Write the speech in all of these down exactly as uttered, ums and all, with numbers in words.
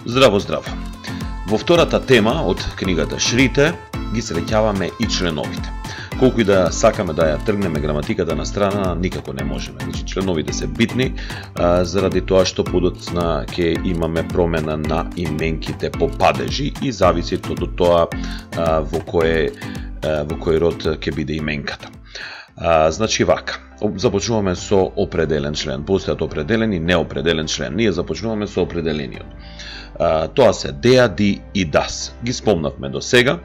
Здраво, здраво! Во втората тема од книгата Шрите ги среќаваме и членовите. Колку и да сакаме да ја тргнеме граматиката на страна, никако не можеме. Значи, членовите се битни, а, заради тоа што подоцна ќе имаме промена на именките по падежи и зависи од тоа а, во кој во кој род ќе биде именката. А, значи вака, започнуваме со определен член. Постојат определен и неопределен член. Ние започнуваме со определениот. А, тоа се деа, ди и дас. Ги спомнавме до сега.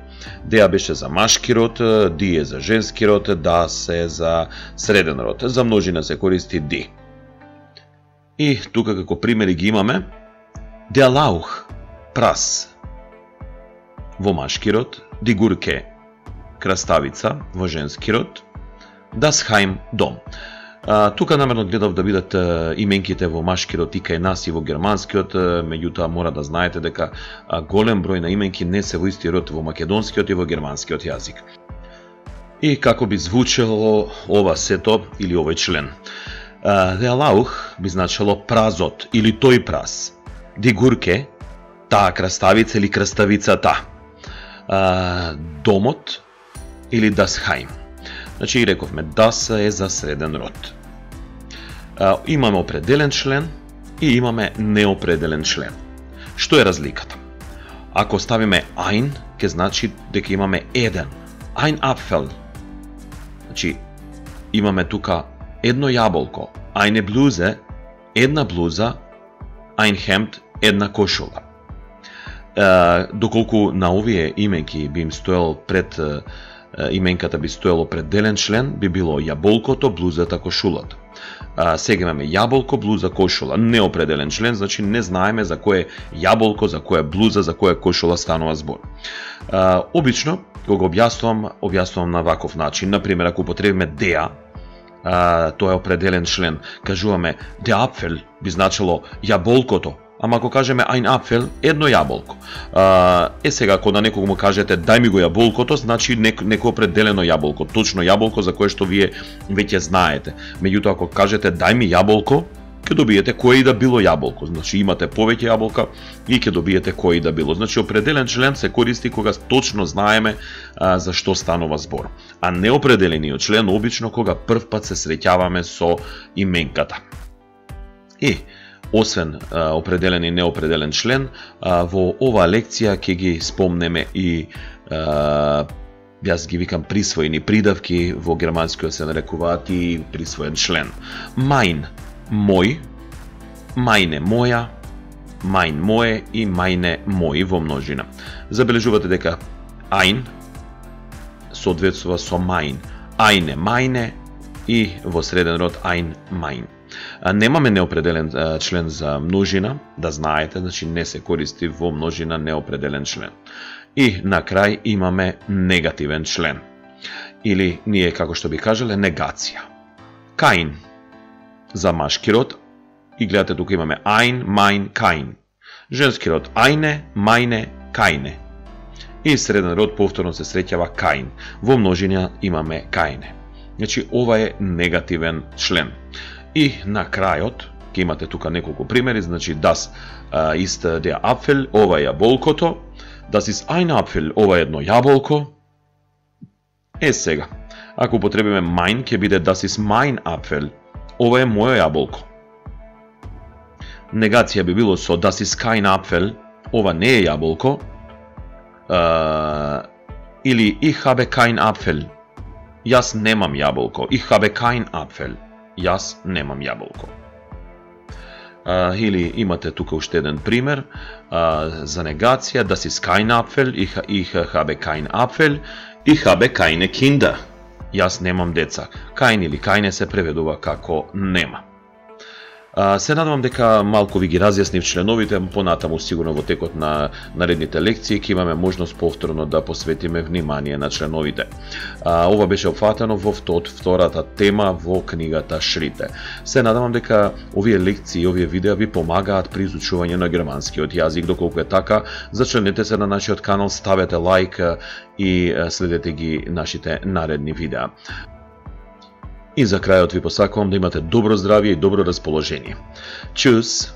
Деа беше за машки род, ди е за женски род, дас е за среден род. За множина се користи ди. И тука како примери ги имаме деа лаух, прас во машки род, ди гурке, краставица во женски род, das Heim, дом. А, тука намерно гледав да бидат а, именките во машки род и кај нас и во германскиот, а, меѓутоа мора да знаете дека а, голем број на именки не се во исти род во македонскиот и во германскиот јазик. И како би звучело ова сето или овој член? Der Lauch би значело празот или тој праз. Die Gurke, таа краставица или краставицата. А, домот или das Heim. Значи, рековме, das е за среден род. А, имаме определен член и имаме неопределен член. Што е разликата? Ако ставиме ein, ќе значи дека имаме еден. Ein Apfel. Значи, имаме тука едно јаболко. Eine Bluse, една блуза. Ein Hemd, една кошула. А, доколку на овие именки би им стоел пред именката би стоело определен член, би било јаболкото, блузата, кошулата. А, сега имаме јаболко, блуза, кошула. Неопределен член, значи не знаеме за кое јаболко, за кое блуза, за кое кошула станува збор. А, обично, кога објаснувам, објаснувам на ваков начин. Например, ако употребиме деа, а, тоа е определен член. Кажуваме der Apfel би значило јаболкото. Ама ако кажеме ein Apfel, едно јаболко. А, е сега, ако на некого му кажете дај ми го јаболкото, значи нек, неко определено јаболко, точно јаболко за кое што вие веќе знаете. Меѓутоа, ако кажете дај ми јаболко, ќе добиете кое и да било јаболко. Значи имате повеќе јаболка и ќе добиете кое и да било. Значи определен член се користи кога точно знаеме а, за што станува збор. А неопределениот член обично кога прв пат се среќаваме со именката. И освен а, определен и неопределен член, а, во оваа лекција ќе ги спомнеме и а, јас ги викам присвоени придавки, во германскиот се нарекуваат и присвоен член. Mein, мој, meine, моја, mein, моје и meine, мој во множина. Забележувате дека ein соодветствува со mein, eine, meine и во среден род ein, mein. Немаме неопределен член за множина, да знаете, значи не се користи во множина неопределен член. И на крај имаме негативен член. Или ние, како што би кажале, негација. Kein за машки род, и гледате тука имаме ein, mein, kein. Женски род eine, meine, keine. И среден род повторно се среќава kein. Во множина имаме keine. Значи ова е негативен член. И на крајот, ќе имате тука неколку примери, значи das uh, ist der Apfel, ова е јаболкото, das ist ein Apfel, ова е едно јаболко. Е сега, ако употребиме mein, ќе биде das ist mein Apfel, ова е моје јаболко. Негација би било со das ist kein Apfel, ова не е јаболко. Uh, или ich habe kein Apfel, јас немам јаболко, ich habe kein Apfel. Јас немам јаболко. А, или имате тука уште еден пример а, за негација, das ist kein Apfel, ich, ich habe kein Apfel, ich habe keine Kinder. Јас немам деца. Kein или keine се преведува како нема. А, се надевам дека малку ви ги разјаснив членовите, понатаму сигурно во текот на наредните лекции ќе имаме можност повторно да посветиме внимание на членовите. А, ова беше опфатено во втората тема во книгата Шрите. Се надевам дека овие лекции и овие видеа ви помагаат при изучување на германскиот јазик. Доколку е така, зачленете се на нашиот канал, ставете лайк и следете ги нашите наредни видеа. И за крајот ви посакувам да имате добро здравје и добро расположение. Чус!